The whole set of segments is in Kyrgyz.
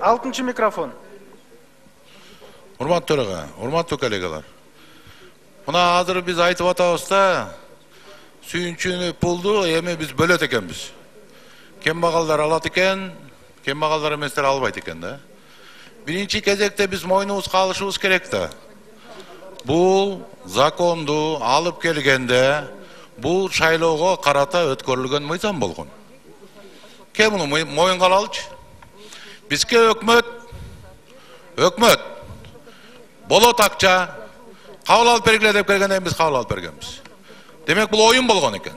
6 микрофон. Урматтуу төрага, урматтуу коллегалар. Мына азыр биз айтып атабыз да, сүйүнчүнү пулду эми биз бөлөт экенбиз. Кембагалдар алат экен, кембагалдар эместер албайт экен да. Биринчи кезекте биз мойнубузга алышыбыз керек да. Бул законду алып келгенде бул шайлоого карата өткөрүлгөн мыйзам болгон. Кем муну моюнга алалычы? Бизге өкмөт болот акча кабыл алып бергиле деп келгенден биз кабыл алып бергенбиз. Демек бул оюн болгон экен.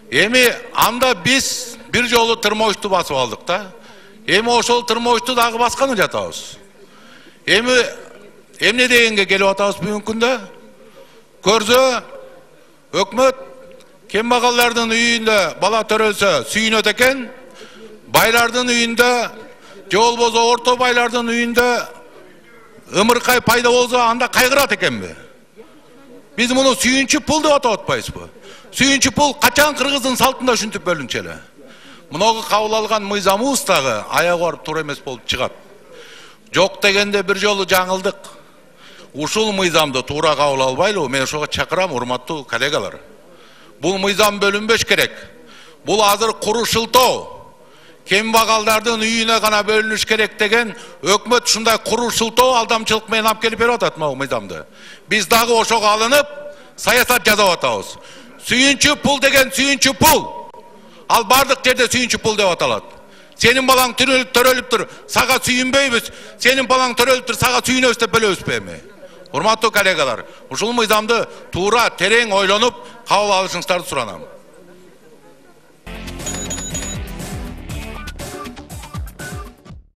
Эми анда биз бир жолу тырмоочту басып алдык да. Эми ошол тырмоочту дагы басканы жатабыз. Эми эмне дегенге келип атабыз бүгүнкү күндө? Көрсө өкмөт кембагалдардын үйүндө бала төрөлсө сүйүнөт экен, байлардын үйүндө же болбосо орто байлардын үйүндө ымыркай пайда болсо анда кайгырат экенби? Биз муну сүйүнчү пул деп атап атпайбызбы? Сүйүнчү пул качан кыргыздын салтында ушинтип бөлүнчү эле. Мунуга кабыл алган мыйзамыбыз дагы аягы барып туура эмес болуп чыгат. Жок дегенде бир жолу жаңылдык. Ушул мыйзамды туура кабыл албайлы, мен ошого чакырам, урматтуу коллегалар. Бул мыйзам бөлүнбөш керек. Бул азыр куру шылтоо. Кембагалдардын үйүнө гана бөлүнүш керек деген өкмөт ушундай куру шылтоо алдамчылык менен алып келип берип атат могу мыйзамды. Биз дагы ошого алынып, саясат жасап атабыз. Сүйүнчү пул деген сүйүнчү пул. Ал бардык жерде сүйүнчү пул деп аталат. Сенин балаң төрөлүптүр, сага сүйүнбөйбүз. Сенин балаң төрөлүптүр, сага сүйүнөбүз деп бөлөбүзбү эми? Урматтуу коллегалар, ушул мыйзамды туура терең ойлонуп кабыл алышыңыздарды суранам.